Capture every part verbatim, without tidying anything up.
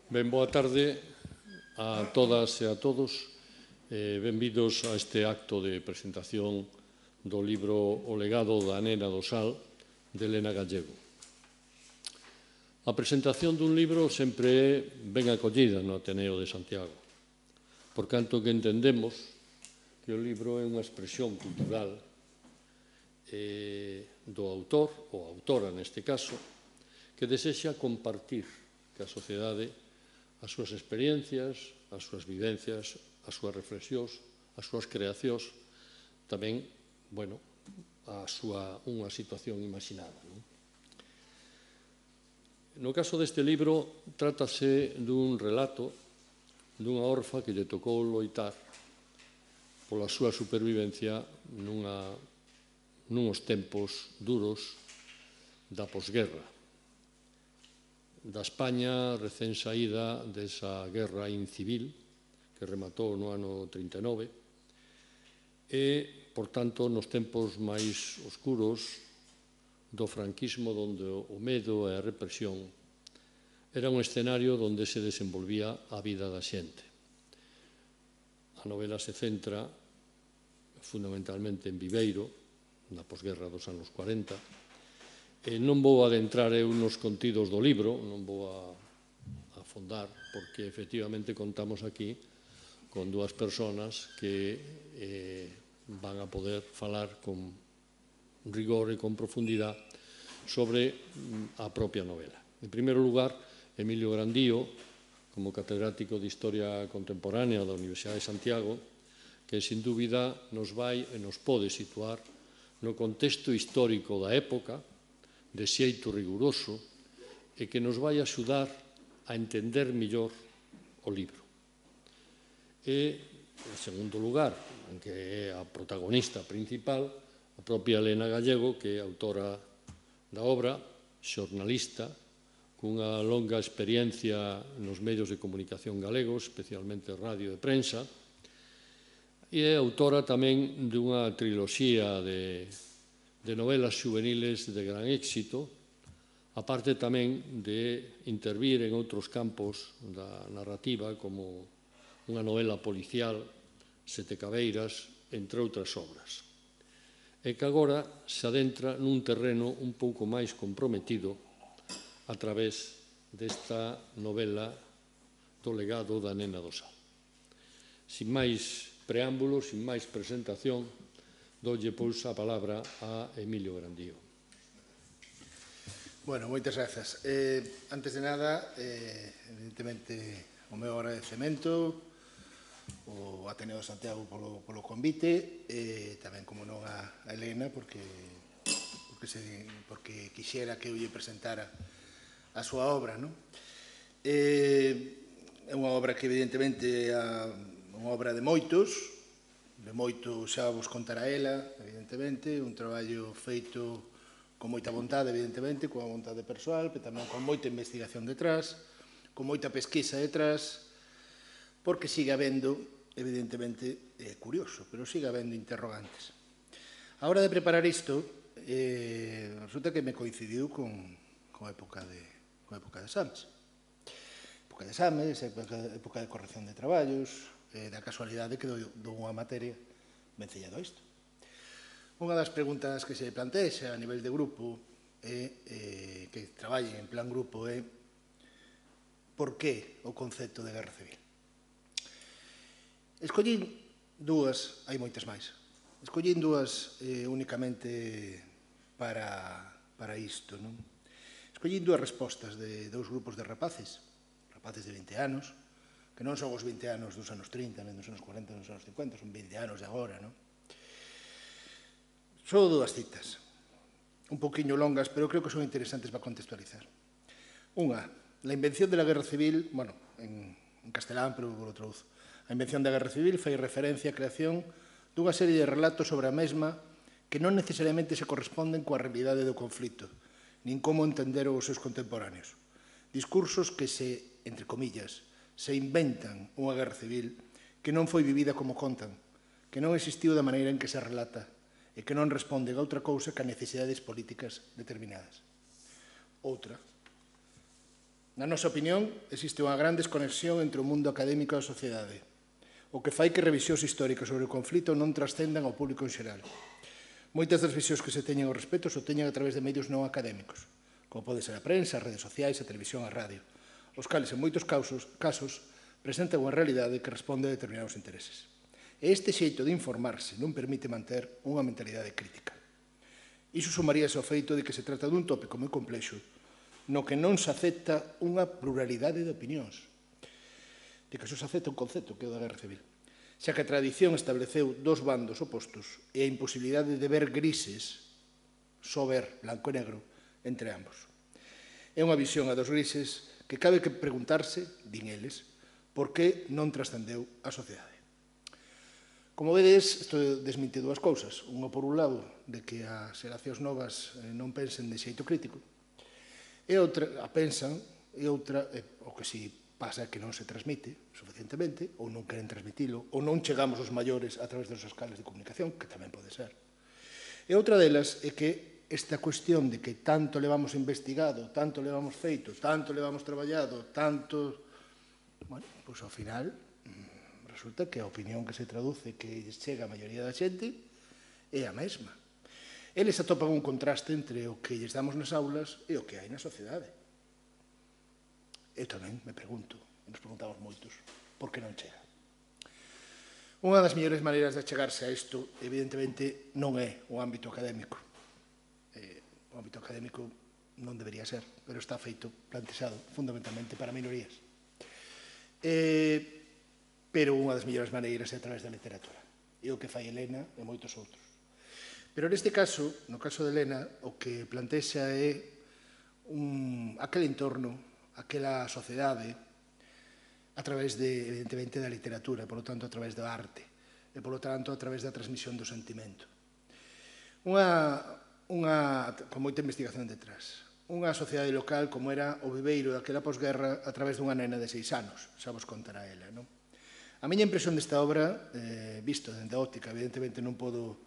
Ben, boa tarde a todas e a todos. Eh, benvidos a este acto de presentación do libro O legado da nena do sal, de Elena Gallego. A presentación dun libro sempre é ben acollida no Ateneo de Santiago, por canto que entendemos que o libro é unha expresión cultural eh, do autor, ou autora neste caso, que desexa compartir que a sociedade as súas experiencias, as súas vivencias, as súas reflexións, as súas creacións, tamén, bueno, a súa unha situación imaginada. Non? No caso deste libro, trátase dun relato dunha orfa que lle tocou loitar pola súa supervivencia nunha, nuns tempos duros da posguerra, da España recén saída desa guerra incivil que rematou no ano trinta e nove e, por tanto, nos tempos máis oscuros do franquismo, onde o medo e a represión era un escenario onde se desenvolvía a vida da xente. A novela se centra fundamentalmente en Viveiro, na posguerra dos anos cuarenta. E non vou adentrar eu nos contidos do libro, non vou a, a afondar, porque efectivamente contamos aquí con dúas persoas que eh, van a poder falar con rigor e con profundidade sobre a propia novela. En primeiro lugar, Emilio Grandío, como catedrático de Historia Contemporánea da Universidade de Santiago, que sin dúbida nos vai e nos pode situar no contexto histórico da época, de xeito riguroso, e que nos vai axudar a entender mellor o libro. E, en segundo lugar, que é a protagonista principal, a propia Elena Gallego, que é autora da obra, xornalista, cunha longa experiencia nos medios de comunicación galegos, especialmente radio e prensa, e é autora tamén dunha triloxía de de novelas juveniles de gran éxito, aparte tamén de intervir en outros campos da narrativa, como unha novela policial, Sete Cabeiras, entre outras obras. E que agora se adentra nun terreno un pouco máis comprometido a través desta novela do legado da nena do sal. Sin máis preámbulos, sin máis presentación, doulle, pois, a palabra a Emilio Grandío. Bueno, moitas grazas. Eh, antes de nada, eh, evidentemente, o meu agradecemento ao Ateneo de Santiago polo, polo convite, e eh, tamén, como non, a, a Elena, porque, porque, se, porque quixera que eu lle presentara a súa obra. Non? Eh, é unha obra que, evidentemente, é unha obra de moitos, de moito xa vos contará ela, evidentemente, un traballo feito con moita vontade, evidentemente, con a vontade persoal, pero tamén con moita investigación detrás, con moita pesquisa detrás, porque sigue habendo, evidentemente, é curioso, pero sigue habendo interrogantes. A hora de preparar isto, eh, resulta que me coincidiu con, con a época de, con a época de exames. Época de exames, época, época de corrección de traballos, eh, da casualidade que dou unha materia vencellado a isto. Unha das preguntas que se plantexa a nivel de grupo é, eh, que traballe en plan grupo é por que o concepto de guerra civil? Escollín dúas, hai moitas máis, escollín dúas eh, únicamente para, para isto. Non? Escollín dúas respostas de dous grupos de rapaces, rapaces de vinte anos, que non son os vinte anos dos anos trinta, nem dos anos cuarenta, dos anos cincuenta, son vinte anos de agora, non? Só dúas citas, un poquinho longas, pero creo que son interesantes para contextualizar. Unha, la invención de la guerra civil, bueno, en, en castelán, pero vos lo traduzo. A invención da guerra civil fai referencia á creación dunha serie de relatos sobre a mesma que non necesariamente se corresponden coa realidade do conflito, nin como entender os seus contemporáneos. Discursos que se, entre comillas, se inventan unha guerra civil que non foi vivida como contan, que non existiu da maneira en que se relata e que non responde a outra cousa que a necesidades políticas determinadas. Outra, Na nosa opinión, existe unha gran desconexión entre o mundo académico e a sociedade, o que fai que revisións históricas sobre o conflito non trascendan ao público en xeral. Moitas das visións que se teñen ao respecto se teñen a través de medios non académicos, como pode ser a prensa, as redes sociais, a televisión, a radio, os cales, en moitos casos, casos presentan unha realidade que responde a determinados intereses. E este xeito de informarse non permite manter unha mentalidade crítica. Iso sumaríase ao feito de que se trata dun tópico moi complexo no que non se acepta unha pluralidade de opinións, de que só se acepta un concepto, que é o da guerra civil, xa que a tradición estableceu dos bandos opostos e a imposibilidade de ver grises, só ver blanco e negro, entre ambos. É unha visión a dos grises que cabe que preguntarse, din eles, por que non trascendeu a sociedade. Como vedes, isto desmite dúas cousas. Unha, por un lado, de que as xeracións novas non pensen de xeito crítico, e outra, a pensan, e outra, o que si pasa é que non se transmite suficientemente, ou non queren transmitilo, ou non chegamos os maiores a través dos escalas de comunicación, que tamén pode ser. E outra delas é que esta cuestión de que tanto levamos investigado, tanto levamos feito, tanto levamos traballado, tanto... Bueno, pois ao final resulta que a opinión que se traduce, que chega a maioría da xente, é a mesma. Eles atopan un contraste entre o que lles damos nas aulas e o que hai na sociedade. Eu tamén me pregunto, e nos preguntamos moitos, por que non chega? Unha das mellores maneiras de chegarse a isto, evidentemente, non é o ámbito académico. O ámbito académico non debería ser, pero está feito, plantexado, fundamentalmente para minorías. Pero unha das mellores maneiras é a través da literatura. E o que fai Helena e moitos outros. Pero neste caso, no caso de Helena, o que plantexa é aquel entorno, aquela sociedade, a través, de, evidentemente, da literatura, e, polo tanto, a través da arte, e, polo tanto, a través da transmisión do sentimento. Unha, unha, con moita investigación detrás. Unha sociedade local como era o Viveiro daquela posguerra a través dunha nena de seis anos, xa vos contará ela, non? A miña impresión desta obra, eh, visto dende a óptica, evidentemente non podo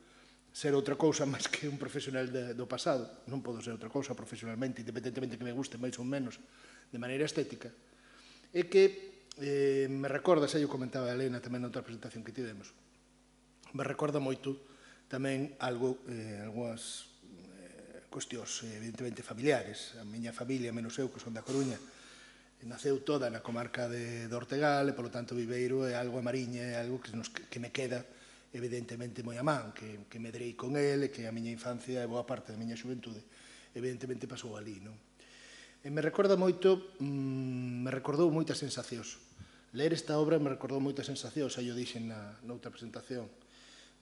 ser outra cousa máis que un profesional de, do pasado, non podo ser outra cousa profesionalmente, independentemente que me guste máis ou menos de maneira estética, é que eh, me recorda, xa eu comentaba a Helena tamén noutra presentación que tivemos, me recorda moito tamén algo, eh, algunhas eh, cuestións evidentemente familiares. A miña familia, menos eu, que son da Coruña, naceu toda na comarca de, de Ortegal e, polo tanto, Viveiro é algo a Mariña, é algo que, nos, que me queda evidentemente moi a man, que, que medrei con ele, que a miña infancia e boa parte da miña xuventude evidentemente pasou ali, non? E me recorda moito, mmm, me recordou moitas sensacións. Ler esta obra me recordou moitas sensacións, xa yo dixen na, noutra presentación.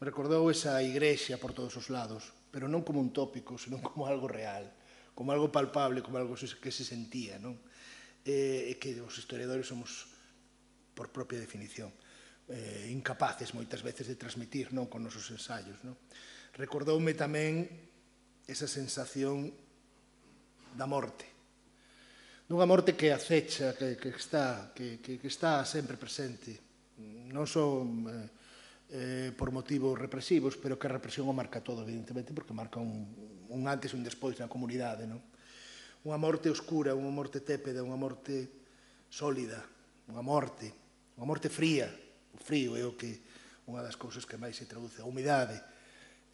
Me recordou esa igrexa por todos os lados, pero non como un tópico, senón como algo real, como algo palpable, como algo que se sentía, non? E que os historiadores somos, por propia definición, eh, incapaces moitas veces de transmitir, non, con nosos ensaios, non? Recordoume tamén esa sensación da morte, dunha morte que acecha, que, que, está, que, que, que está sempre presente, non só eh, eh, por motivos represivos, pero que a represión o marca todo, evidentemente, porque marca un, un antes e un despois na comunidade, non? Unha morte oscura, unha morte tépeda, unha morte sólida, unha morte, unha morte fría. O frío é o que, unha das cousas que máis se traduce, a humidade,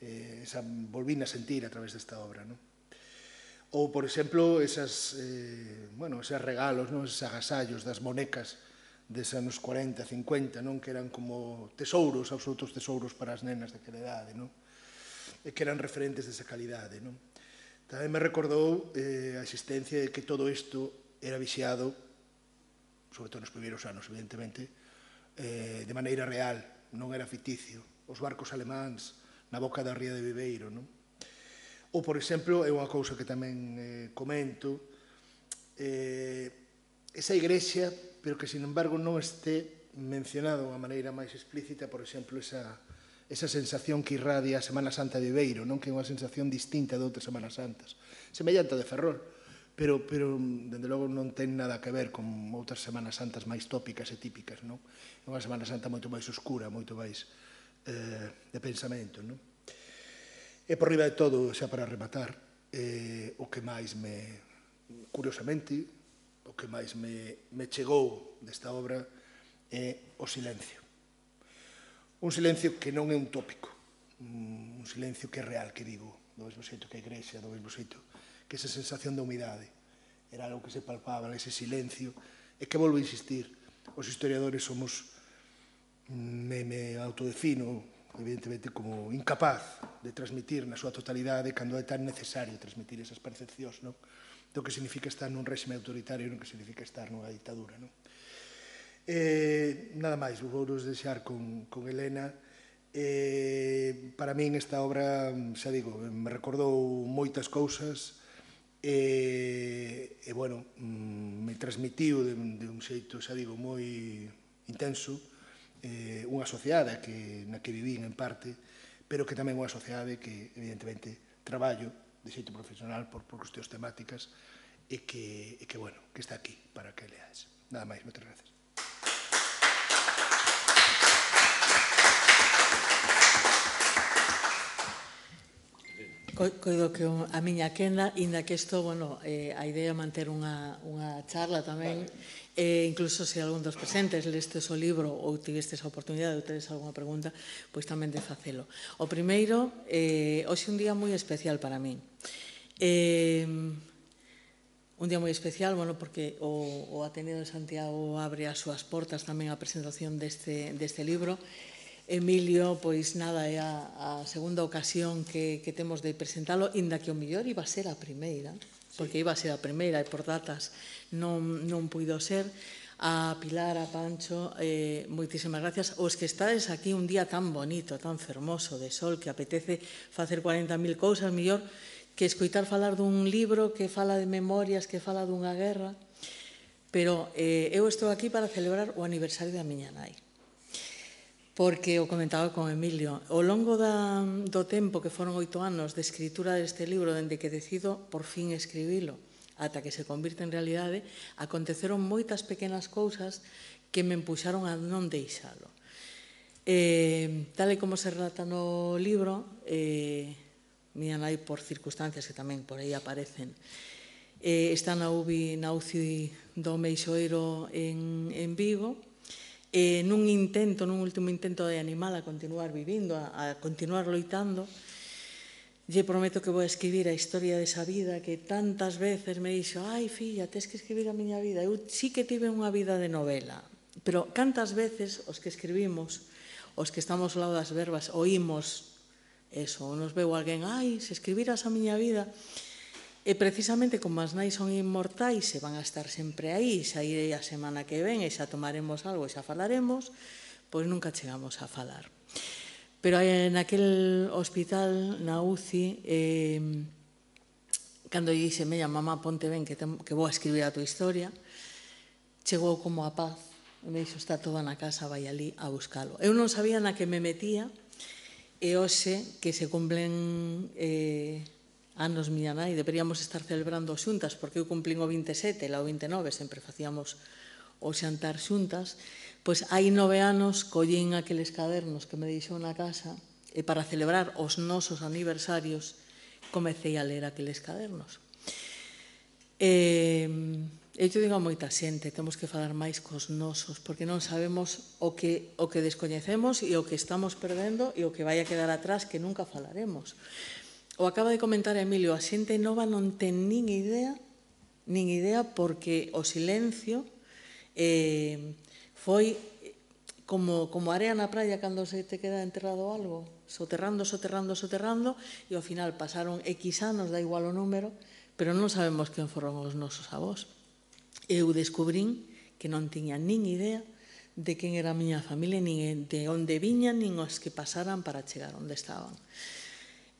eh, esa volvín a sentir a través desta obra, non? Ou, por exemplo, esas, eh, bueno, esos regalos, non? Esos agasallos das monecas des anos cuarenta, cincuenta, non? Que eran como tesouros, absolutos tesouros para as nenas daquela idade, non? E que eran referentes desa calidade, non? Tamén me recordou eh, a existencia de que todo isto era vixiado, sobre todo nos primeiros anos, evidentemente, eh, de maneira real, non era ficticio. Os barcos alemáns na boca da ría de Viveiro, non? Ou, por exemplo, é unha cousa que tamén eh, comento, eh, esa igrexa, pero que, sin embargo, non este mencionado de unha maneira máis explícita, por exemplo, esa, esa sensación que irradia a Semana Santa de Viveiro, non? Que é unha sensación distinta de outras Semanas Santas, semellante a de Ferrol, pero, pero, dende logo, non ten nada que ver con outras Semanas Santas máis tópicas e típicas, non? É unha Semana Santa moito máis oscura, moito máis eh, de pensamento, non? E por riba de todo, xa para rematar, eh, o que máis me, curiosamente, o que máis me, me chegou desta obra é o silencio. Un silencio que non é un tópico, un silencio que é real, que vivo, do mesmo xeito que a igrexa, do mesmo xeito que esa sensación de humidade. Era algo que se palpaba, ese silencio, e que volvo a insistir, os historiadores somos, me, me autodefino, evidentemente, como incapaz de transmitir na súa totalidade cando é tan necesario transmitir esas percepcións, non? Do que significa estar nun réxime autoritario e non que significa estar nunha ditadura, non? Eh, nada máis, vou vos deixar con, con Helena. Eh, para min esta obra, xa digo, me recordou moitas cousas e, e bueno, me transmitiu de, de un xeito, xa digo, moi intenso eh, unha sociedade que, na que vivín en parte, pero que tamén unha sociedade que, evidentemente, traballo de xeito profesional por, por cuestións temáticas e que, e que, bueno, que está aquí para que leades. Nada máis, moitas gracias. Coido que a miña quenda, inda que isto, bueno, eh, a idea é manter unha, unha charla tamén, e incluso se algún dos presentes lestes o libro ou tivestes a oportunidade ou tedes algunha pregunta, pois tamén de facelo. O primeiro, eh, hoxe un día moi especial para min. Eh, un día moi especial, bueno, porque o, o Ateneo de Santiago abre as súas portas tamén á presentación deste, deste libro. Emilio, pois nada, é a, a segunda ocasión que, que temos de presentalo, inda que o mellor iba a ser a primeira, porque iba a ser a primeira e por datas non, non puido ser. A Pilar, a Pancho, eh, moitísimas gracias. Os que estades aquí un día tan bonito, tan fermoso de sol, que apetece facer cuarenta mil cousas, mellor que escoitar falar dun libro que fala de memorias, que fala dunha guerra. Pero eh, eu estou aquí para celebrar o aniversario da miña nai. Porque o comentaba con Emilio, ao longo da, do tempo que foron oito anos de escritura deste libro, dende que decido por fin escribilo, ata que se convirte en realidade, aconteceron moitas pequenas cousas que me empuxaron a non deixalo. Eh, tal e como se relata no libro, eh, miña nai, por circunstancias que tamén por aí aparecen, eh, está na U B I, na U C I do Meixoeiro en, en Vigo, e nun intento, nun último intento de animala a continuar vivindo, a, a continuar loitando, lle prometo que vou a escribir a historia desa vida que tantas veces me dixo, ai, filla, tes que escribir a miña vida. Eu sí que tive unha vida de novela, pero cantas veces os que escribimos, os que estamos ao lado das verbas, oímos eso, ou nos veu alguén, ai, se escribiras a miña vida. E precisamente como as nais son inmortais e van a estar sempre aí, xa irei a semana que ven e xa tomaremos algo e xa falaremos, pois nunca chegamos a falar. Pero naquel hospital, na U C I, eh, cando lle dixe, mella, mamá, ponte ben que, tem, que vou a escribir a tua historia, chegou como a paz, e me dixo, está toda na casa, vai ali a buscalo. Eu non sabía na que me metía, e hoxe que se cumplen eh, anos miña nai, deberíamos estar celebrando xuntas, porque eu cumplín o vinte e sete, ela o vinte e nove, sempre facíamos o xantar xuntas, pois hai nove anos collín aqueles cadernos que me deixou na casa e para celebrar os nosos aniversarios comecei a ler aqueles cadernos. E eu te digo a moita xente, temos que falar máis cos nosos, porque non sabemos o que, o que descoñecemos e o que estamos perdendo e o que vai a quedar atrás que nunca falaremos. O acaba de comentar Emilio, a xente nova non ten nin idea, nin idea porque o silencio eh, foi como, como area na praia cando se te queda enterrado algo, soterrando, soterrando, soterrando, e ao final pasaron X anos, da igual o número, pero non sabemos quen foron os nosos avós. Eu descubrín que non tiña nin idea de quen era a miña familia, nin de onde viñan, nin os que pasaran para chegar onde estaban.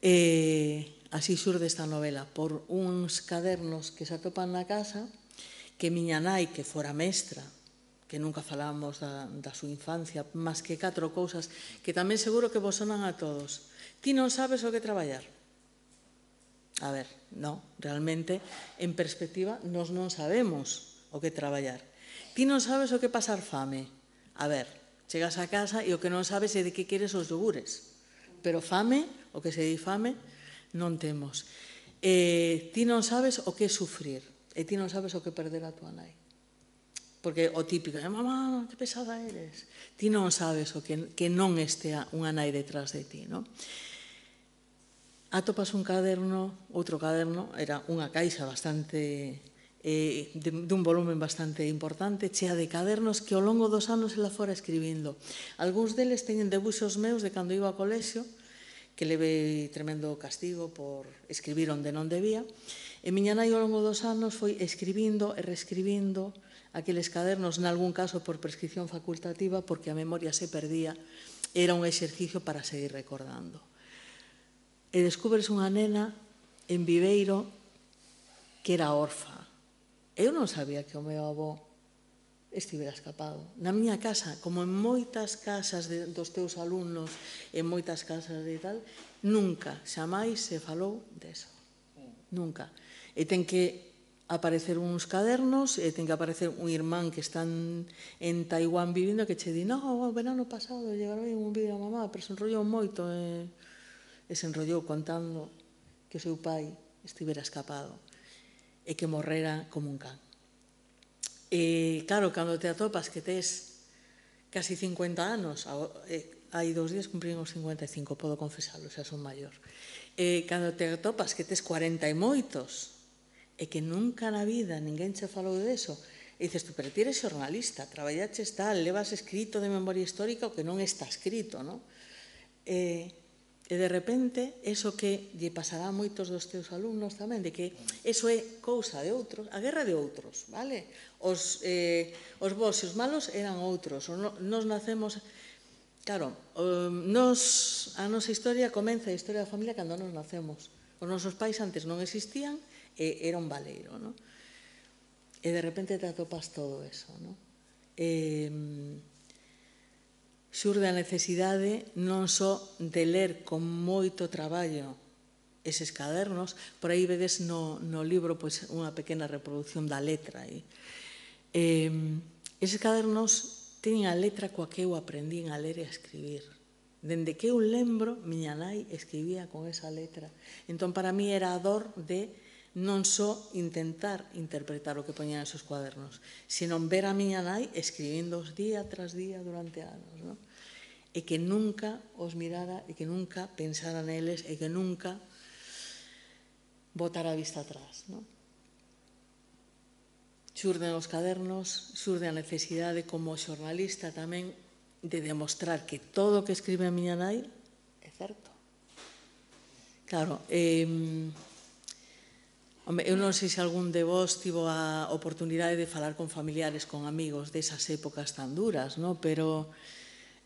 E así xurde esta novela, por uns cadernos que se atopan na casa, que miña nai, que fora mestra, que nunca falábamos da, da súa infancia, máis que catro cousas, que tamén seguro que vos sonan a todos. Ti non sabes o que traballar? A ver, non, realmente, en perspectiva, nos non sabemos o que traballar. Ti non sabes o que pasar fame? A ver, chegas a casa e o que non sabes é de que queres os yogures. Pero fame, o que se di fame, non temos. Eh, ti non sabes o que é sufrir. e ti non sabes o que perder a tua nai. Porque o típico, mamá, que pesada eres. Ti non sabes o que, que non estea unha nai detrás de ti, non? Atopas un caderno, outro caderno, era unha caixa bastante, eh, de, dun volumen bastante importante, chea de cadernos que ao longo dos anos ela fora escribindo. Algúns deles teñen debuxos meus de cando iba ao colexio, que levei tremendo castigo por escribir onde non debía, e miña nai ao longo dos anos foi escribindo e reescribindo aqueles cadernos, nalgún caso por prescripción facultativa, porque a memoria se perdía, era un exercicio para seguir recordando. E descubres unha nena en Viveiro que era orfa. Eu non sabía que o meu avó estivera escapado. Na miña casa, como en moitas casas de, dos teus alumnos, en moitas casas de tal, nunca, xamais se falou deso. Nunca. E ten que aparecer uns cadernos, e ten que aparecer un irmán que están en Taiwán vivindo que che di, no, o verano pasado llegaron un vídeo a mamá, pero se enrollou moito e, e se enrollou contando que o seu pai estivera escapado e que morrera como un can. E, claro, cando te atopas que tes casi cincuenta anos, hai dous días cumprín os cincuenta e cinco, podo confesarlo, xa son maior. E, cando te atopas que tes cuarenta e moitos, e que nunca na vida ninguén che falou deso, e dices, tú, pero ti eres xornalista, traballaches tal, levas escrito de memoria histórica o que non está escrito, non? E, e de repente, eso que lle pasará a moitos dos teus alumnos tamén, de que eso é cousa de outros, a guerra de outros, vale? Os, eh, os bons e os malos eran outros, nos nacemos... Claro, nos, a nosa historia comeza a historia da familia cando nos nacemos. Os nosos pais antes non existían e era un baleiro, non? E de repente te atopas todo eso, non? E... xurde a necesidade non só de ler con moito traballo eses cadernos, por aí vedes no, no libro pois, unha pequena reproducción da letra. E, eh, eses cadernos teñen a letra coa que eu aprendín a ler e a escribir. Dende que eu lembro, miña nai escribía con esa letra. Entón, para mí era a dor de non só intentar interpretar o que poñían esos cuadernos, sino ver a miña nai escribindos día tras día durante anos, non? E que nunca os mirara e que nunca pensara neles e que nunca botara a vista atrás, non? Xurden os cadernos, xurde a necesidade como xornalista tamén de demostrar que todo o que escribe a miña nai é certo. Claro, eh, eu non sei se algún de vos tivo a oportunidade de falar con familiares, con amigos desas épocas tan duras, non? Pero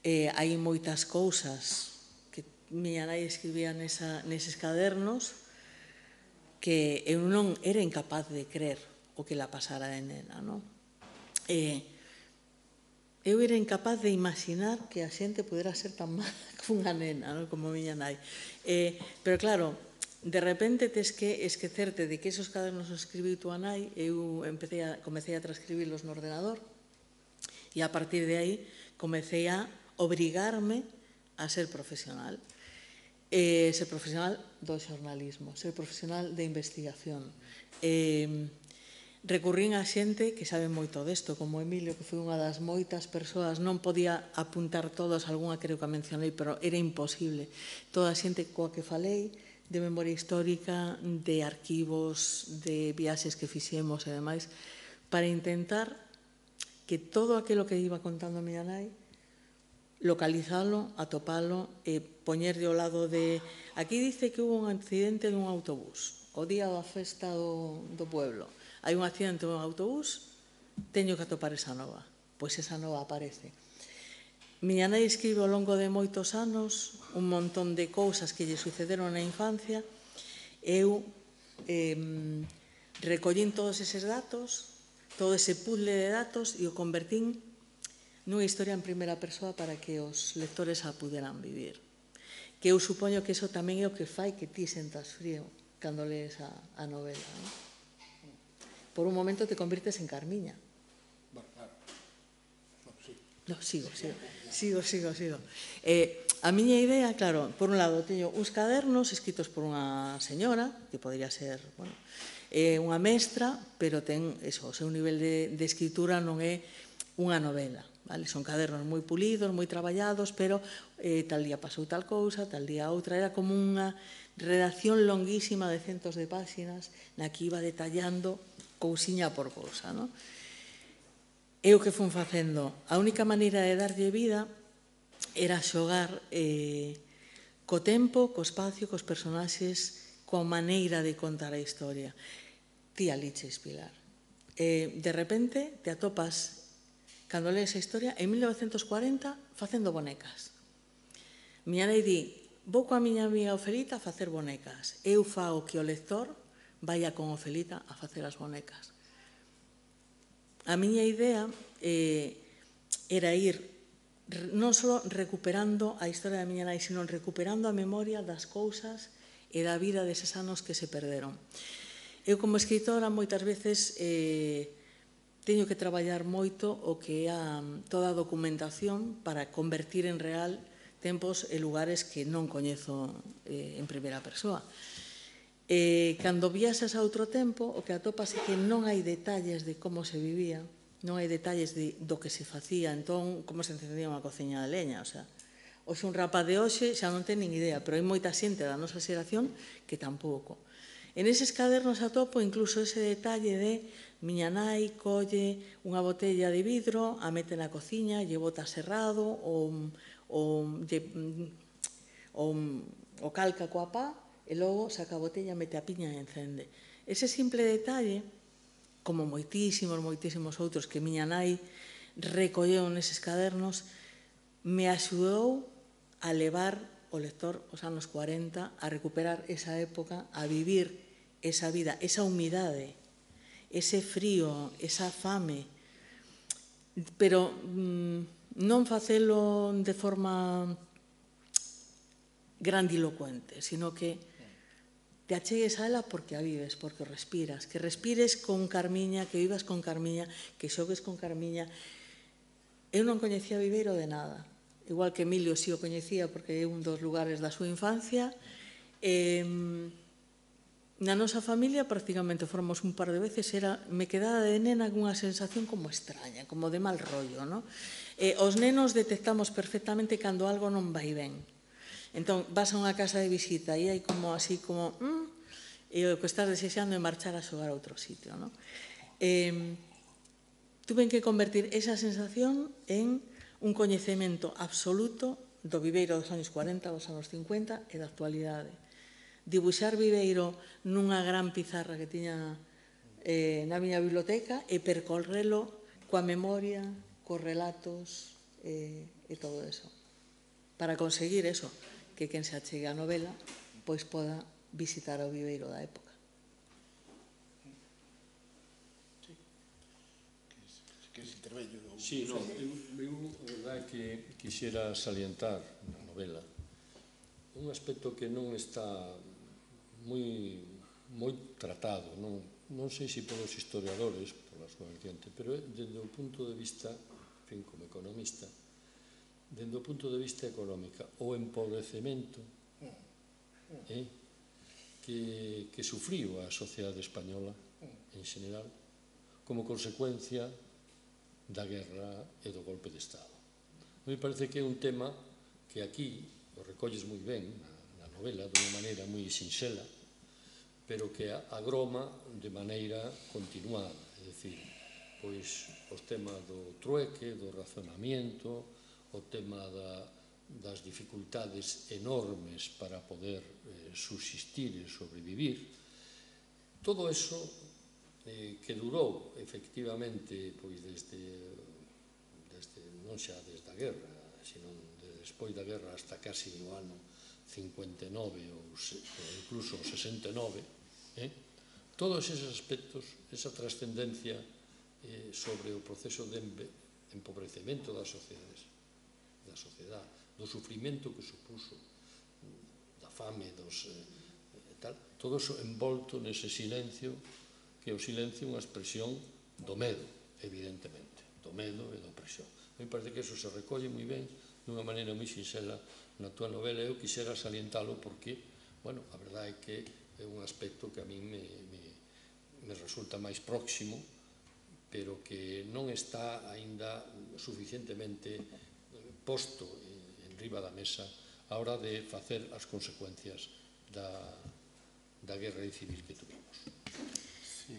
eh, hai moitas cousas que miña nai escribía nesa, neses cadernos que eu non era incapaz de crer o que la pasara de nena, non? Eh, eu era incapaz de imaginar que a xente pudera ser tan mala como unha nena, non? Como miña nai. Eh, pero claro, de repente tes que esquecerte de que esos cadernos os escribiu tua nai, eu empecé a, comecei a transcribirlos no ordenador e a partir de aí comecei a obrigarme a ser profesional. Eh, ser profesional do xornalismo, ser profesional de investigación. Eh, recurrín a xente que sabe moito desto, como Emilio, que foi unha das moitas persoas, non podía apuntar todos, algunha creo que a mencionei, pero era imposible. Toda a xente coa que falei, de memoria histórica, de arquivos, de viaxes que fixemos e demais, para intentar que todo aquilo que iba contando a miña nai, localizalo, atopalo e poñerlle ao lado de... Aquí dice que hubo un accidente dun autobús, o día da festa do, do pueblo. Hai un accidente dun autobús, teño que atopar esa nova. Pois esa nova aparece. Miña nai escribe ao longo de moitos anos un montón de cousas que lle sucederon na infancia. Eu eh, recollín todos eses datos, todo ese puzzle de datos e o convertín nunha historia en primeira persoa para que os lectores a puderan vivir. Que eu supoño que iso tamén é o que fai que ti sentas frío cando lees a, a novela, non? Por un momento te convirtes en Carmiña. Bueno, claro. No, sí. No, sigo, sigo. Sigo, sigo, sigo. Eh, a miña idea, claro, por un lado, teño uns cadernos escritos por unha señora, que podría ser, bueno, É unha mestra, pero ten eso, o seu nivel de, de escritura non é unha novela. Vale? Son cadernos moi pulidos, moi traballados, pero eh, tal día pasou tal cousa, tal día outra. Era como unha redacción longuísima de centos de páxinas na que iba detallando cousiña por cousa. No? E o que fun facendo? A única maneira de darlle vida era xogar eh, co tempo, co espacio, cos personaxes, coa maneira de contar a historia. Ti aliches, Pilar. Eh, de repente te atopas, cando lees a historia, en mil novecentos cuarenta facendo bonecas. Miña nai di, vou coa miña amiga Ofelita a facer bonecas. Eu fago que o lector vaya con Ofelita a facer as bonecas. A miña idea eh, era ir non só recuperando a historia da miña nai, sino recuperando a memoria das cousas e da vida deses anos que se perderon. Eu, como escritora, moitas veces eh, teño que traballar moito o que é a, toda a documentación para convertir en real tempos e lugares que non coñezo eh, en primeira persoa. Eh, cando viaxas a outro tempo, o que atopas é que non hai detalles de como se vivía, non hai detalles de, do que se facía, entón, como se encendía unha cociña de leña, o sea, hoxe un rapaz de hoxe xa non ten nin idea, pero hai moita xente da nosa xeración que tampouco. En eses cadernos atopo incluso ese detalle de miña nai colle unha botella de vidro, a mete na cociña, lle bota cerrado, ou, ou, lle, ou, ou calca coa pá, e logo saca a botella, mete a piña e encende. Ese simple detalle, como moitísimos, moitísimos outros que miña nai recolleu neses cadernos, me axudou a levar o lector os anos cuarenta, a recuperar esa época, a vivir esa vida, esa humidade, ese frío, esa fame, pero mm, non facelo de forma grandilocuente, sino que te achegues a ela porque a vives, porque o respiras, que respires con Carmiña, que vivas con Carmiña, que xogues con Carmiña. Eu non coñecía Viveiro de nada, igual que Emilio si o coñecía porque é un dos lugares da súa infancia. E, na nosa familia prácticamente formos un par de veces, era, me quedaba de nena cunha sensación como extraña, como de mal rollo, no? E, os nenos detectamos perfectamente cando algo non vai ben. Entón, vas a unha casa de visita e hai como así como mm, e o que estás desexando é marchar a xogar a outro sitio, no? E, tuve que convertir esa sensación en un coñecemento absoluto do Viveiro dos anos cuarenta, dos anos cincuenta e da actualidade. Dibuixar Viveiro nunha gran pizarra que tiña eh, na miña biblioteca e percorrelo coa memoria, cos relatos eh, e todo eso. Para conseguir eso, que quen se achegue a novela pois poda visitar o Viveiro da época. Sí, no, eu, eu, a verdade, que quixera salientar na novela un aspecto que non está moi, moi tratado, non, non sei se polos historiadores, pola súa vertiente, pero desde o punto de vista, en fin, como economista, desde o punto de vista económica, o empobrecemento eh, que, que sufriu a sociedade española en general como consecuencia da guerra e do golpe de Estado. Me parece que é un tema que aquí o recolles moi ben na, na novela, dunha maneira moi sinxela, pero que agroma de maneira continuada, é dicir, pois os temas do trueque, do razonamiento, o tema da, das dificultades enormes para poder eh, subsistir e sobrevivir, todo eso eh, que durou efectivamente pois desde, desde non xa desde a guerra, sino de despois da guerra hasta casi o ano cincuenta e nove ou, se, ou incluso o sesenta e nove, eh? Todos esos aspectos, esa trascendencia eh, sobre o proceso de empobrecemento das sociedades, da sociedade, do sufrimento que supuso, da fame, dos, eh, tal, todo eso envolto nese silencio, que o silencio é unha expresión do medo, evidentemente, do medo e da opresión. Me parece que eso se recolle moi ben, dunha maneira moi sinxela na túa novela. Eu quixera salientalo porque, bueno, a verdade é que é un aspecto que a mí me, me, me resulta máis próximo, pero que non está aínda suficientemente posto en riba da mesa a hora de facer as consecuencias da, da guerra civil que tuvimos. Sí,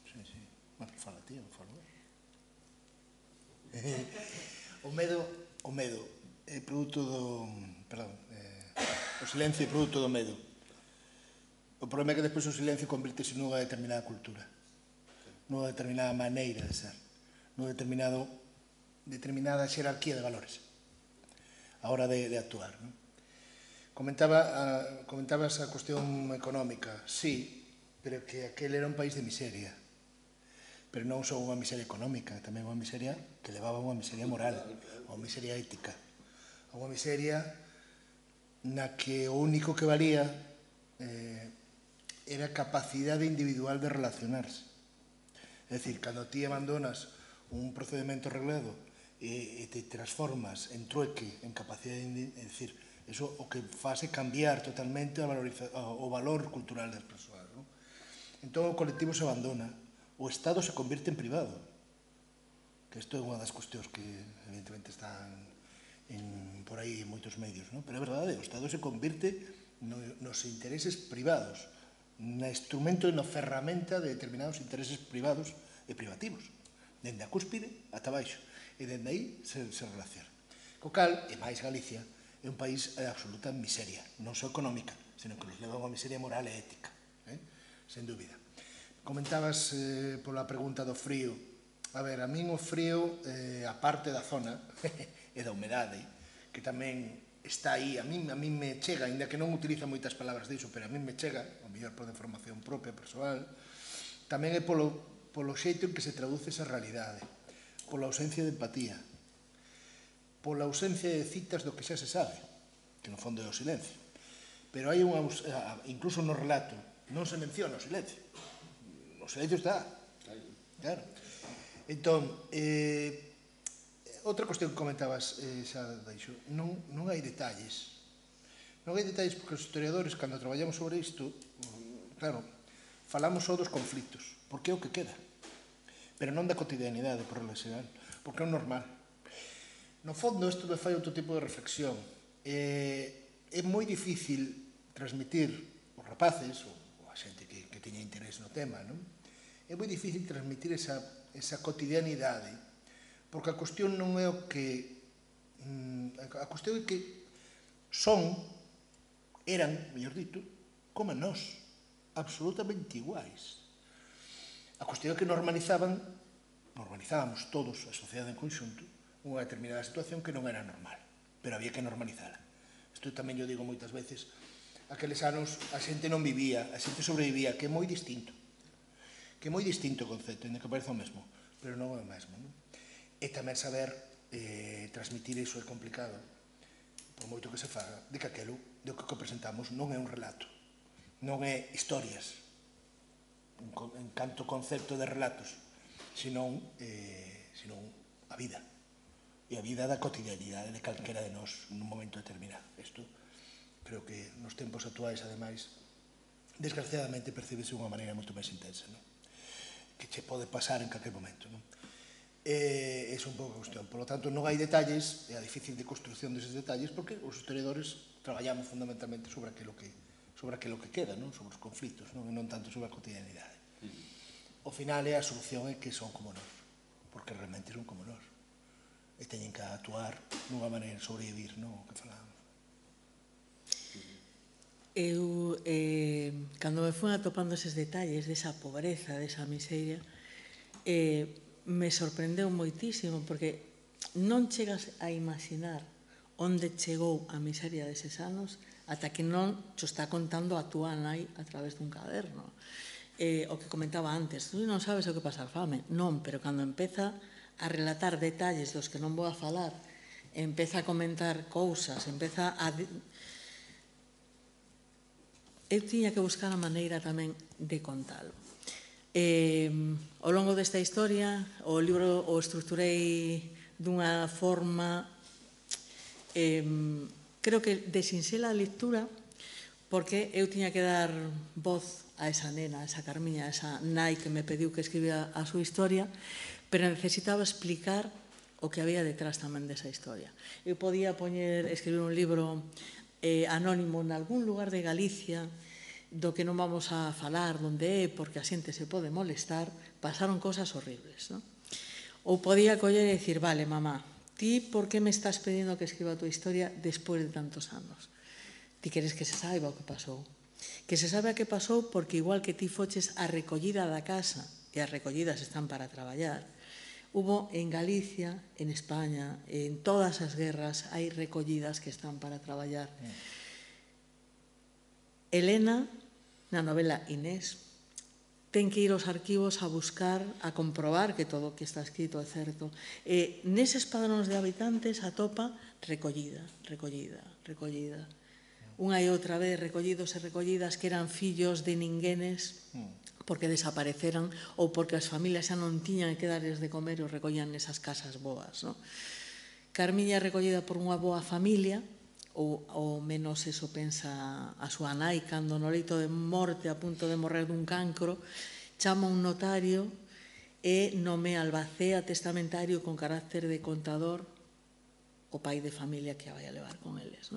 sí, sí. Bueno, fala tío, falo. O medo, o medo é produto do, perdón, eh, o silencio é produto do medo. O problema é que despois o silencio convirtese nunha determinada cultura, nunha determinada maneira de ser, nunha determinado, determinada xerarquía de valores a hora de, de actuar. Non? Comentaba, a, comentabas a cuestión económica, sí, pero que aquel era un país de miseria. Pero non só unha miseria económica, tamén unha miseria que levaba a unha miseria moral, a unha miseria ética, a unha miseria na que o único que valía eh, era a capacidade individual de relacionarse. É dicir, cando ti abandonas un procedimento reglado e, e te transformas en trueque, en capacidade, de, é dicir, eso o que faz é cambiar totalmente a valoriza, o valor cultural das persoas. Non? Entón o colectivo se abandona, o Estado se convirte en privado, que isto é unha das cuestións que evidentemente están en, por aí en moitos medios, non? Pero é verdade, o Estado se convirte no, nos intereses privados, na instrumento e na ferramenta de determinados intereses privados e privativos, dende a cúspide ata baixo, e dende aí se, se relaciona. Co cal, e máis Galicia, é un país de absoluta miseria, non só económica, senón que nos leva a unha miseria moral e ética, eh? Sen dúbida. Comentabas eh, pola pregunta do frío. A ver, a min o frío, eh, a parte da zona e da humedade, que tamén está aí, a min, a min me chega, ainda que non utiliza moitas palabras diso, pero a min me chega, ao mellor por información propia, persoal, tamén é polo, polo xeito en que se traduce esa realidade, pola ausencia de empatía, pola ausencia de citas do que xa se sabe, que no fondo é o silencio. Pero hai unha, incluso no relato, non se menciona o silencio. O silencio está. Claro. Entón, eh, outra cuestión que comentabas eh, xa deixo, non, non hai detalles. Non hai detalles porque os historiadores, cando traballamos sobre isto, claro, falamos só dos conflitos, porque é o que queda. Pero non da cotidianidade, por regla xeral, porque é o normal. No fondo, isto me fai outro tipo de reflexión. Eh, é moi difícil transmitir os rapaces, ou, ou a xente que, que teña interés no tema, non? É moi difícil transmitir esa, esa cotidianidade, porque a cuestión non é o que... A cuestión é que son, eran, mellor dito, como nós, absolutamente iguais. A cuestión é que normalizaban, normalizábamos todos, a sociedade en conxunto, unha determinada situación que non era normal, pero había que normalizala. Isto tamén yo digo moitas veces, aqueles anos a xente non vivía, a xente sobrevivía, que é moi distinto, que é moi distinto o concepto, ainda que parece o mesmo, pero non é o mesmo. Non? E tamén saber eh, transmitir iso é complicado, por moito que se faga, de que aquelo, de que o presentamos non é un relato, non é historias, en canto concepto de relatos, senón, eh, senón a vida. E a vida da cotidianidade de calquera de nós nun momento determinado. Isto creo que nos tempos actuais, ademais, desgraciadamente percibese de unha maneira moito máis intensa, non? Que che pode pasar en calquer momento. Non? E, esa é un pouco a cuestión. Por lo tanto, non hai detalles, é a difícil de construcción deses detalles, porque os historiadores traballamos fundamentalmente sobre aquilo que, sobre aquilo que queda, non? Sobre os conflitos, non? E non tanto sobre a cotidianidade. O final é a solución é que son como nós, porque realmente son como nós. E teñen que actuar nunha maneira de sobrevivir, non? O que falábamos. Eu, eh, cando me fui atopando eses detalles desa pobreza, desa miseria, eh, me sorprendeu moitísimo, porque non chegas a imaginar onde chegou a miseria deses anos ata que non xo está contando a túa nai a través dun caderno. Eh, o que comentaba antes, tú non sabes o que pasar fame. Non, pero cando empeza a relatar detalles dos que non vou a falar, empeza a comentar cousas, empeza a... Eu tiña que buscar a maneira tamén de contalo. Eh, ao longo desta historia, o libro o estruturei dunha forma, eh, creo que de sinxela lectura, porque eu tiña que dar voz a esa nena, a esa Carmiña, a esa nai que me pediu que escribía a súa historia, pero necesitaba explicar o que había detrás tamén desa historia. Eu podía poñer, escribir un libro eh, anónimo en algún lugar de Galicia do que non vamos a falar onde é, porque a xente se pode molestar, pasaron cosas horribles, non? Ou podía coller e dicir, vale, mamá, ti por que me estás pedindo que escriba a tua historia despois de tantos anos? Ti queres que se saiba o que pasou. Que se sabe a que pasou porque igual que ti foches a recollida da casa, e as recollidas están para traballar, hubo en Galicia, en España, en todas as guerras, hai recollidas que están para traballar. Elena, na novela Inés, ten que ir aos arquivos a buscar, a comprobar que todo o que está escrito é certo. E neses padróns de habitantes atopa recollida, recollida, recollida. Unha e outra vez recollidos e recollidas que eran fillos de ninguénes porque desapareceran ou porque as familias xa non tiñan que darles de comer e os recollían nesas casas boas. Carmiña é recollida por unha boa familia, ou ao menos eso pensa a súa nai cando no leito de morte a punto de morrer dun cancro chama un notario e nomea albacea testamentario con carácter de contador o pai de familia que a vai a levar con eles.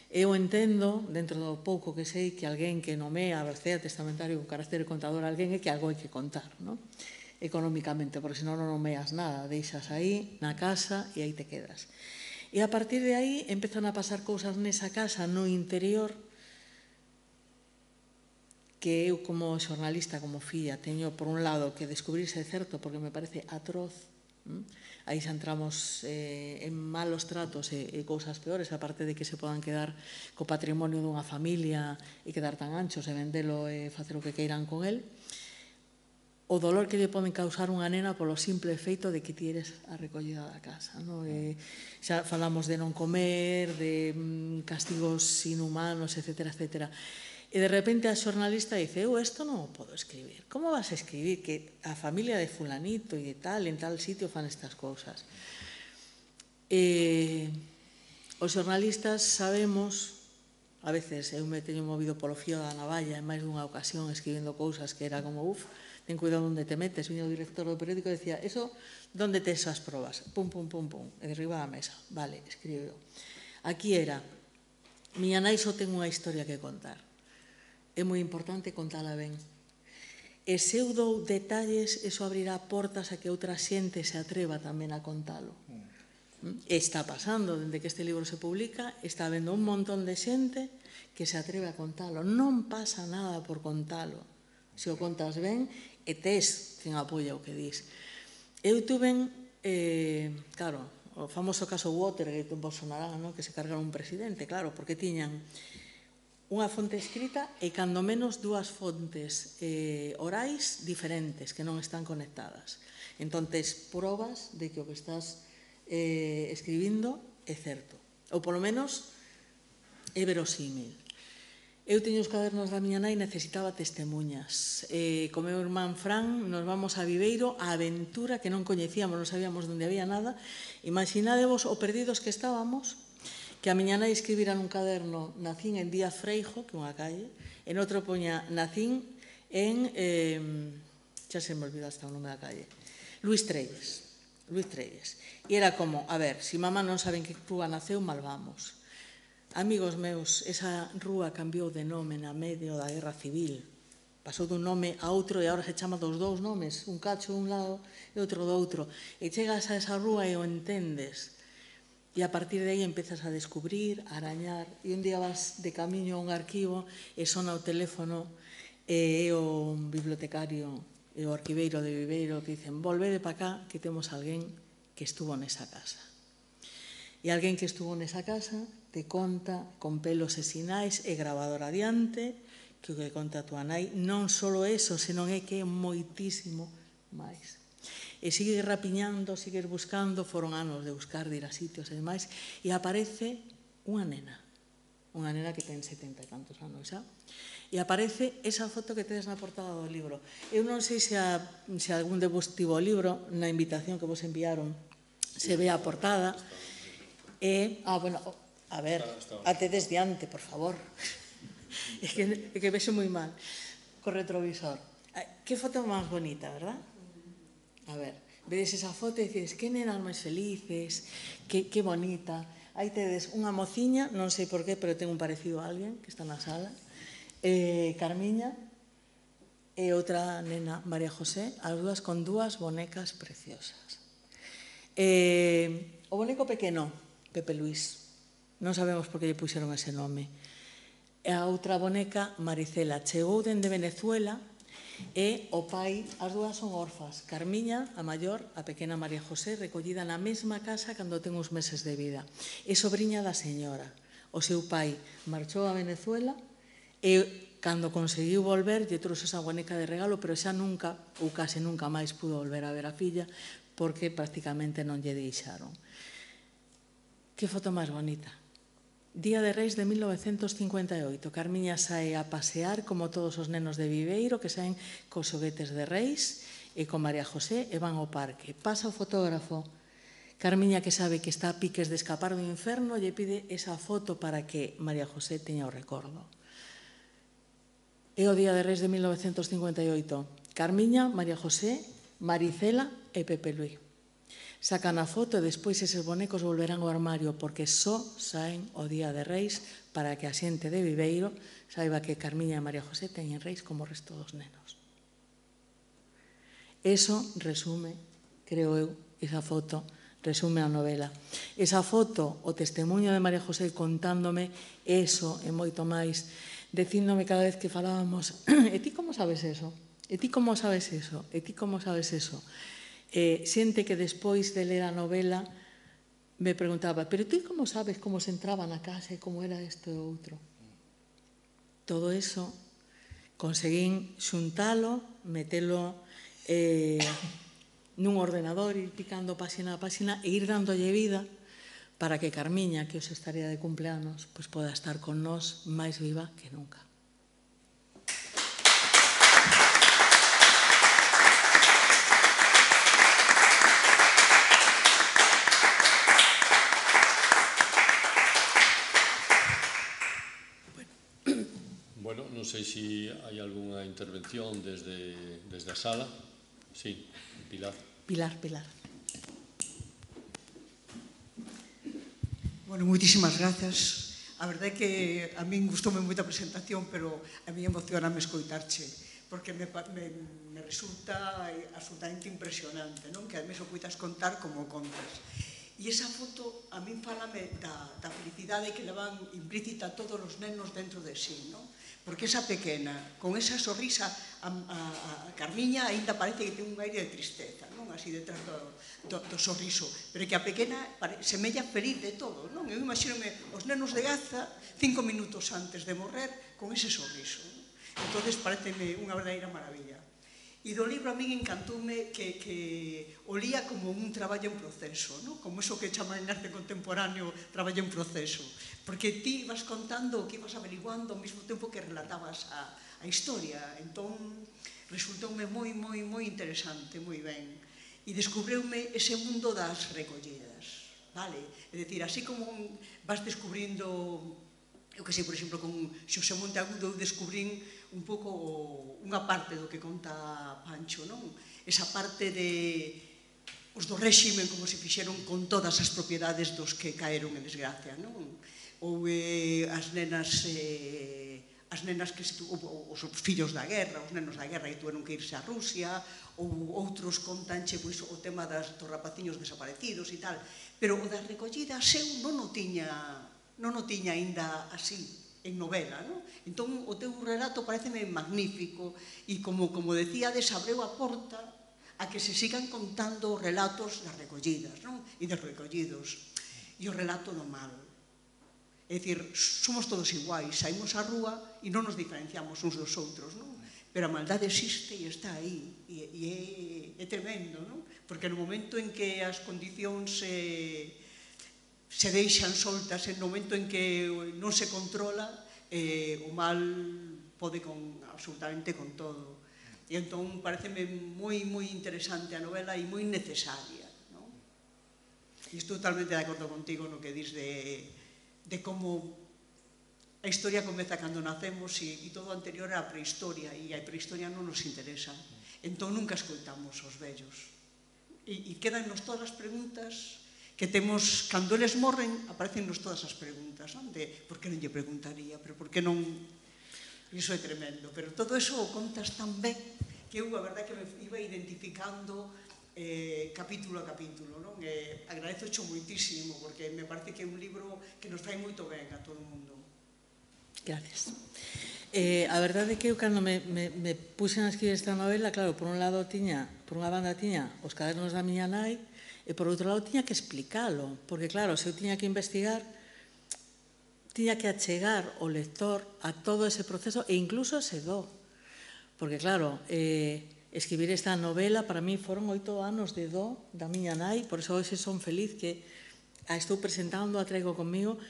Eu entendo, dentro do pouco que sei, que alguén que nomea albacea testamentario con carácter de contador alguén é que algo hai que contar, económicamente, porque senón non nomeas nada, deixas aí na casa e aí te quedas. E a partir de aí empezan a pasar cousas nesa casa, no interior, que eu como xornalista, como filla, teño por un lado que descubrirse certo porque me parece atroz. Aí xa entramos en malos tratos e cousas peores, aparte de que se podan quedar co patrimonio dunha familia e quedar tan anchos e vendelo e facer o que queiran con el. O dolor que lle poden causar unha nena polo simple feito de que ti eres a recollida da casa. Xa falamos de non comer, de castigos inhumanos, etcétera, etcétera. E de repente a xornalista dice, eu isto non o podo escribir. Como vas a escribir que a familia de fulanito e de tal, en tal sitio fan estas cousas? Os xornalistas sabemos, a veces eu me teño movido polo fío da navalla en máis dunha ocasión escribindo cousas que era como, uf, ten cuidado onde te metes. Viña o director do periódico e decía, eso, onde tes as probas? Pum, pum, pum, pum, e derriba da mesa. Vale, escribeo. Aquí era, miña nai só ten unha historia que contar. É moi importante contala ben. E se eu dou detalles, eso abrirá portas a que outra xente se atreva tamén a contalo. Está pasando, dende que este libro se publica, está habendo un montón de xente que se atreve a contalo. Non pasa nada por contalo. Se o contas ben, e tes quen apoia o que dis. Eu tuven, claro, o famoso caso Watergate en Bolsonaro, que se cargaron un presidente, claro, porque tiñan unha fonte escrita e cando menos dúas fontes orais diferentes que non están conectadas. Entón, tes probas de que o que estás escribindo é certo. Ou, polo menos, é verosímil. Eu teño os cadernos da miña nai e necesitaba testemunhas. Co meu irmán Fran nos vamos a Viveiro a aventura que non coñecíamos, non sabíamos onde había nada. Imaginadevos o perdidos que estábamos, que a miña nai escribira nun caderno nacín en Díaz Freijo, que é unha calle, e noutro poña nacín en, xa se me olvidou hasta o nome da calle, Luís Trelles. Luís Trelles. E era como, a ver, se mamá non saben que rúa naceu, mal vamos. Amigos meus, esa rúa cambiou de nome na medio da Guerra Civil. Pasou dun nome a outro e agora se chama dos dous nomes, un cacho dun lado e outro do outro. E chegas a esa rúa e o entendes. E a partir de aí empezas a descubrir, a arañar, e un día vas de camiño a un arquivo e sona o teléfono e é o bibliotecario e o arquiveiro de Viveiro que dicen, volvede pa cá que temos alguén que estuvo nesa casa. E alguén que estuvo nesa casa te conta con pelos e sinais e grabador adiante que o que conta a túa nai non só eso, senón é que é moitísimo máis. E sigues rapiñando, sigues buscando, foron anos de buscar, de ir a sitios e demais, e aparece unha nena, unha nena que ten setenta e tantos anos xa, e aparece esa foto que tedes na portada do libro. Eu non sei se algún de vos tivo o libro, na invitación que vos enviaron, se ve a portada, e, ah, bueno, a ver, a tedes diante, por favor, é que vexo moi mal. co retrovisor. Que foto máis bonita, verdad? A ver, vedes esa foto e dices, que nenas máis felices, que, que bonita. Aí tedes unha mociña, non sei por qué, pero ten un parecido a alguén que está na sala, eh, Carmiña, e outra nena, María José, as dúas con dúas bonecas preciosas. Eh, o boneco pequeno, Pepe Luís, non sabemos por que lle puxeron ese nome. E a outra boneca, Maricela, chegou dende Venezuela e o pai, as dúas son orfas. Carmiña, a maior, a pequena María José, recollida na mesma casa cando ten uns meses de vida. É sobrinha da señora. O seu pai marchou a Venezuela e cando conseguiu volver lle trouxe esa boneca de regalo, pero xa nunca, ou case nunca máis, pudo volver a ver a filla porque prácticamente non lle deixaron. Que foto máis bonita. Día de Reis de mil novecentos cincuenta e oito. Carmiña sae a pasear como todos os nenos de Viveiro que saen cos xoguetes de Reis e con María José e van ao parque. Pasa o fotógrafo. Carmiña, que sabe que está a piques de escapar do inferno, lle pide esa foto para que María José teña o recordo. É o Día de Reis de mil novecentos cincuenta e oito. Carmiña, María José, Maricela e Pepe Luís. Sacan a foto e despois eses bonecos volverán ao armario porque só saen o Día de Reis para que a xente de Viveiro saiba que Carmiña e María José teñen reis como o resto dos nenos. Eso resume, creo eu, esa foto, resume a novela. Esa foto, o testemunho de María José contándome eso e moito máis, dicíndome cada vez que falábamos, e ti como sabes eso? E ti como sabes eso? E ti como sabes eso? Eh, xente que despois de ler a novela me preguntaba, pero tú como sabes como se entraba na casa e como era isto e outro? Todo eso conseguín xuntalo, metelo eh, nun ordenador, ir picando páxina a páxina e ir dándolle vida para que Carmiña, que os estaría de cumpleanos, pues poda estar con nós máis viva que nunca. Bueno, non sei se hai algunha intervención desde, desde a sala. Sí, Pilar. Pilar, Pilar. Bueno, moitísimas grazas. A verdade é que a min gustoume moita a presentación, pero a mí emocioname escoitarche, porque me, me, me resulta absolutamente impresionante, non? Que ademais o poitas contar como contas. E esa foto a min fálame da, da felicidade que levan implícita todos os nenos dentro de sí, non? Porque esa pequena, con esa sonrisa, a, a, a Carmiña aínda parece que ten un aire de tristeza, non? Así detrás do, do, do sorriso, pero que a pequena semella feliz de todo, non? Eu imagínome os nenos de Gaza cinco minutos antes de morrer con ese sorriso, non? Entón, pareceme unha verdadeira maravilla. E do libro a min encantoume que, que o lía como un traballo en proceso, ¿no? Como eso que chaman en arte contemporáneo traballo en proceso, porque ti vas contando o que ibas averiguando ao mesmo tempo que relatabas a, a historia. Entón, resultoume moi, moi, moi interesante, moi ben. E descubreume ese mundo das recollidas, vale? É dicir, así como vas descubrindo, eu que sei, por exemplo, con Xosé Monteagudo, eu descubrín un pouco unha parte do que conta Pancho, non? Esa parte de os do réximen como se fixeron con todas as propiedades dos que caeron en desgracia, non? Ou eh, as nenas eh, as nenas que os fillos da guerra, os nenos da guerra que tuveron que irse a Rusia, ou outros contanche pois, o tema das, dos rapaciños desaparecidos e tal, pero o das recollidas eu non o tiña non o tiña aínda así en novela, non? Entón, o teu relato pareceme magnífico e, como, como decíades, abreu a porta a que se sigan contando os relatos das recollidas, non? E dos recollidos. E o relato do mal. É dicir, somos todos iguais, saímos á rúa e non nos diferenciamos uns dos outros, non? Pero a maldade existe e está aí. E, e é, é tremendo, non? Porque no momento en que as condicións se... se deixan soltas, no momento en que non se controla, eh, o mal pode con, absolutamente con todo. E entón pareceme moi, moi interesante a novela e moi necesaria, non? E estou totalmente de acordo contigo no que dis de, de como a historia comeza cando nacemos e, e todo o anterior é a prehistoria e a prehistoria non nos interesa. Entón nunca escoitamos os vellos. E, e quedannos todas as preguntas que temos, cando eles morren, aparecennos todas as preguntas, non? De, por que non lle preguntaría, pero por que non... Iso é tremendo, pero todo eso o contas tan ben que eu, a verdade, que me iba identificando eh, capítulo a capítulo, non? Eh, agradezo xo moitísimo, porque me parece que é un libro que nos fai moito ben a todo o mundo. Gracias. Eh, a verdade é que eu, cando me, me, me puxen a escribir esta novela, claro, por un lado tiña, por unha banda tiña os cadernos da miña nai, e por outro lado tiña que explicalo, porque claro, se eu tiña que investigar, tiña que achegar o lector a todo ese proceso e incluso se do. Porque claro, eh, escribir esta novela para mí foron oito anos de do da miña nai, por iso hoxe son feliz que a estou presentando, a traigo comigo.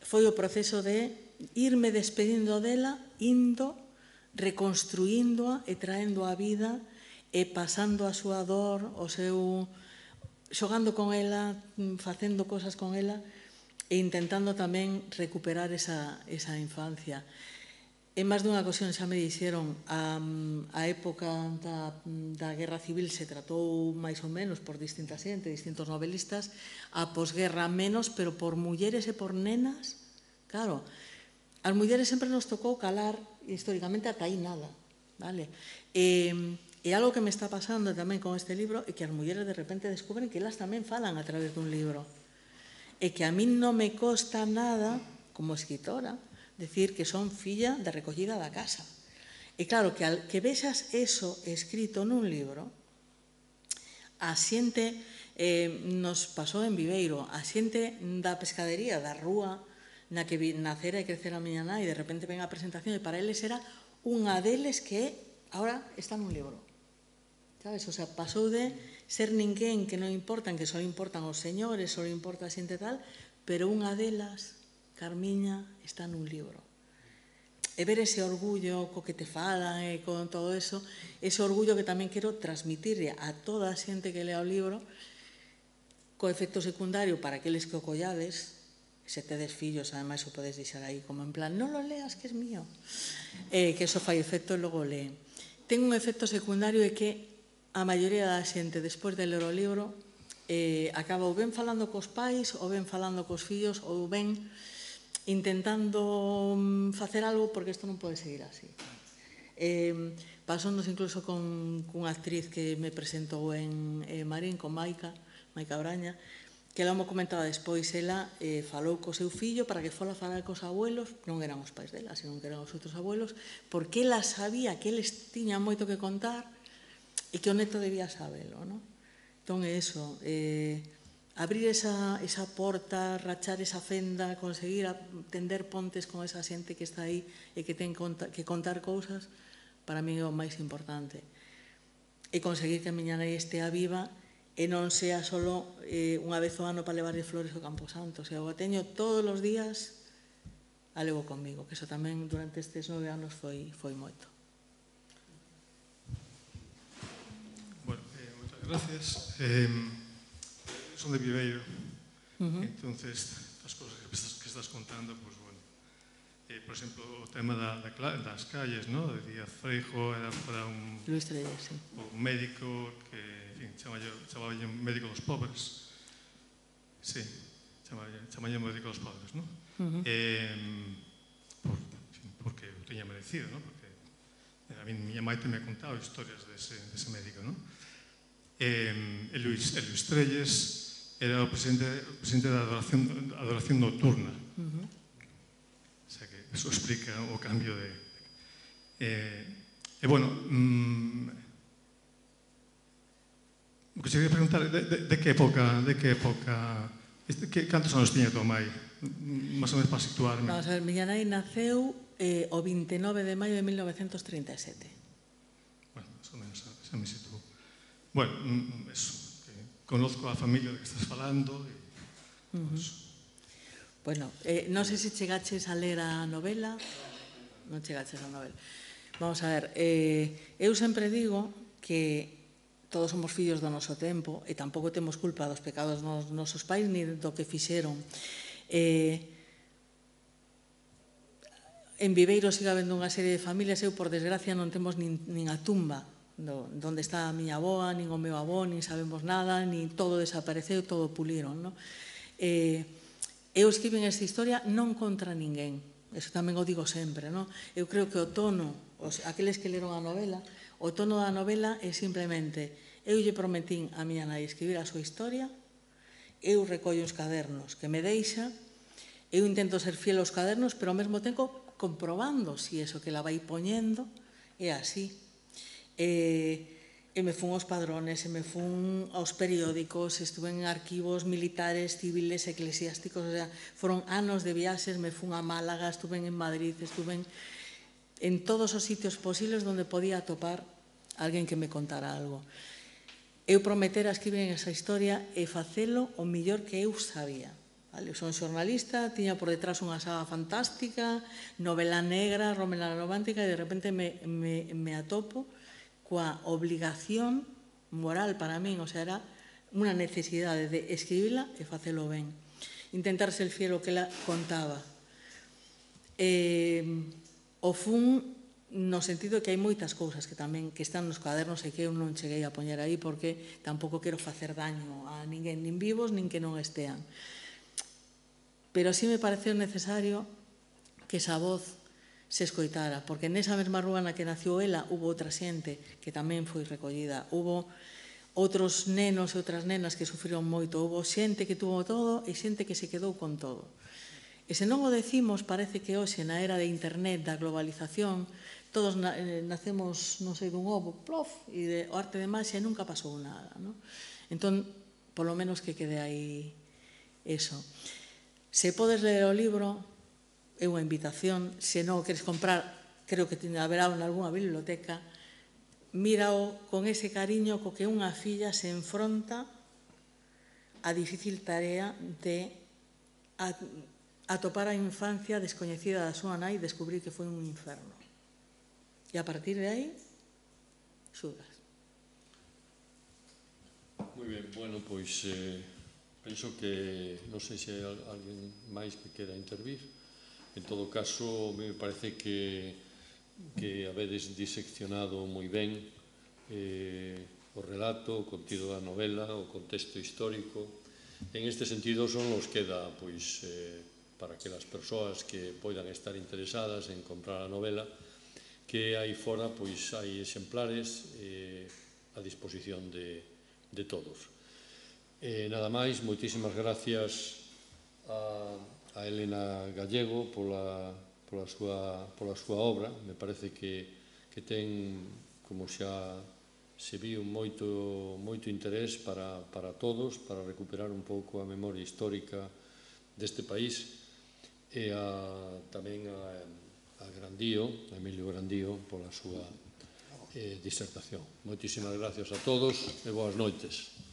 Foi o proceso de irme despedindo dela, indo, reconstruíndoa e traendo a vida e pasando a súa dor, o seu... xogando con ela, facendo cosas con ela e intentando tamén recuperar esa, esa infancia. En máis dunha ocasión xa me dixeron a, a época da, da Guerra Civil se tratou máis ou menos por distinta xente, distintos novelistas, a posguerra menos, pero por mulleres e por nenas. Claro, as mulleres sempre nos tocou calar históricamente ata aí nada, vale? E, e algo que me está pasando tamén con este libro é que as mulleres de repente descubren que elas tamén falan a través dun libro. E que a mí non me costa nada, como escritora, decir que son filla de recollida da casa. E claro, que, al, que vexas eso escrito nun libro, a xente, eh, nos pasou en Viveiro, a xente da pescadería, da rúa, na que nacera e crecera a miña nai, e de repente ven a presentación e para eles era unha deles que ahora está nun libro. Sabes? O sea, pasou de ser ninguén que non importan, que só importan os señores, só importa a xente tal, pero unha delas, Carmiña, está nun libro. E ver ese orgullo co que te falan e con todo eso, ese orgullo que tamén quero transmitirle a toda a xente que lea o libro, co efecto secundario para aqueles que o collades, se tedes fillos, ademais o podes deixar aí como en plan, non lo leas que es mío, eh, que eso fai efecto e logo lee. Ten un efecto secundario é que a maioría da xente, despois de ler o libro, eh, acaba ou ben falando cos pais, ou ben falando cos fillos, ou ben intentando facer algo porque isto non pode seguir así. Eh, pasándonos incluso con cunha actriz que me presentou en eh, Marín, con Maica, Maica Braña, que ela me comentaba despois, ela eh, falou co seu fillo para que fola a falar cos abuelos, non eran os pais dela, senón que eran os outros abuelos, porque ela sabía que eles tiñan moito que contar e que o neto debía sabelo, non? Entón é iso, eh, abrir esa, esa porta, rachar esa fenda, conseguir tender pontes con esa xente que está aí e que ten que contar cousas, para mí é o máis importante. E conseguir que a miña nai estea viva e non sea só eh, unha vez ao ano para levarlle flores ao Camposanto. O sea, o teño todos os días a levo comigo, que eso tamén durante estes nove anos foi, foi moito. Bueno, eh, moitas gracias. Eh, son de Viveiro, uh-huh. Entonces, as cousas que estás, que estás contando, pues bueno, eh, por exemplo, o tema da, da, das calles, ¿no? De Díaz Freijo, era para un, Luis Trelles, sí. Un médico que, en fin, chamaba un médico dos pobres, sí, chamaba un médico dos pobres, ¿no? Uh-huh. eh, por, en fin, porque o teña merecido, ¿no? Porque a mí, miña maite me ha contado historias dese, dese médico, ¿no? Eh, e Luis, e Luis Trelles era o presidente, o presidente da adoración, adoración nocturna. Uh-huh. O sea que eso explica o cambio de... Eh, e, bueno, mmm, o que se quería preguntar, de, de, de que época, de que época, este, que, cantos anos tiña tua mai? Más ou menos para situarme. Vamos a ver, miña nai naceu eh, o vinte e nove de maio de mil novecentos trinta e sete. Bueno, más ou menos, xa me situo. Bueno, eso. Conozco a familia de que estás falando. E, uh-huh. Pues... Bueno, eh, non sei se chegaches a ler a novela. Non chegaches a novela. Vamos a ver, eh, eu sempre digo que todos somos fillos do noso tempo e tampouco temos culpa dos pecados dos nosos pais ni do que fixeron. Eh, en Viveiro siga habendo unha serie de familias, eu, por desgracia, non temos nin, nin a tumba do, donde está a miña avoa, nin o meu avó, nin sabemos nada, nin todo desapareceu, todo puliron, non? Eh, eu escribín esta historia non contra ninguén, eso tamén o digo sempre, non? Eu creo que o tono, os, aqueles que leron a novela, o tono da novela é simplemente, eu lle prometín a miña nai escribir a súa historia, eu recollo os cadernos que me deixa, eu intento ser fiel aos cadernos, pero ao mesmo tempo comprobando si eso que la vai poñendo é así. E, e me fun aos padrones, e me fun aos periódicos, estuve en arquivos militares, civiles, eclesiásticos, o sea, foron anos de viaxes, me fun a Málaga, estuve en Madrid, estuve en, en todos os sitios posibles onde podía atopar alguén que me contara algo. Eu prometera escribir esa historia e facelo o millor que eu sabía. Vale, eu son xornalista, tiña por detrás unha saga fantástica, novela negra, romana romántica, e de repente me, me, me atopo coa obligación moral para min, o sea, era unha necesidade de escribila e facelo ben. Intentar ser fiel o que ela contaba. Eh, o fun no sentido que hai moitas cousas que tamén que están nos cadernos e que eu non cheguei a poñer aí porque tampouco quero facer daño a ninguén, nin vivos, nin que non estean. Pero sí me pareceu necesario que esa voz se escoitara, porque nesa mesma rúa na que nació ela hubo outra xente que tamén foi recollida, hubo outros nenos e outras nenas que sufriron moito, hubo xente que tuvo todo e xente que se quedou con todo. E se non o decimos, parece que hoxe na era de internet, da globalización, todos nacemos, non sei, dun ovo, plof, e o arte de maxia nunca pasou nada, non? Entón, polo menos que quede aí eso. Se podes ler o libro, é unha invitación, se non o queres comprar, creo que haberá en algunha biblioteca, mírao con ese cariño co que unha filla se enfronta a difícil tarea de atopar a infancia descoñecida da súa nai e descubrir que foi un inferno. E a partir de aí, xulgas. Moi ben, bueno, pois... Eh... Penso que, non sei se hai alguén máis que quera intervir. En todo caso, me parece que, que habedes diseccionado moi ben eh, o relato, o contido da novela, o contexto histórico. En este sentido, son os que dá, pois, eh, para que as persoas que poidan estar interesadas en comprar a novela, que aí fora, pois, hai exemplares eh, a disposición de, de todos. Eh, nada máis, moitísimas gracias a, a Elena Gallego pola, pola, súa, pola súa obra. Me parece que, que ten, como xa se viu, moito, moito interés para, para todos, para recuperar un pouco a memoria histórica deste país, e a, tamén a, a Grandío, a Emilio Grandío, pola súa eh, disertación. Moitísimas gracias a todos e boas noites.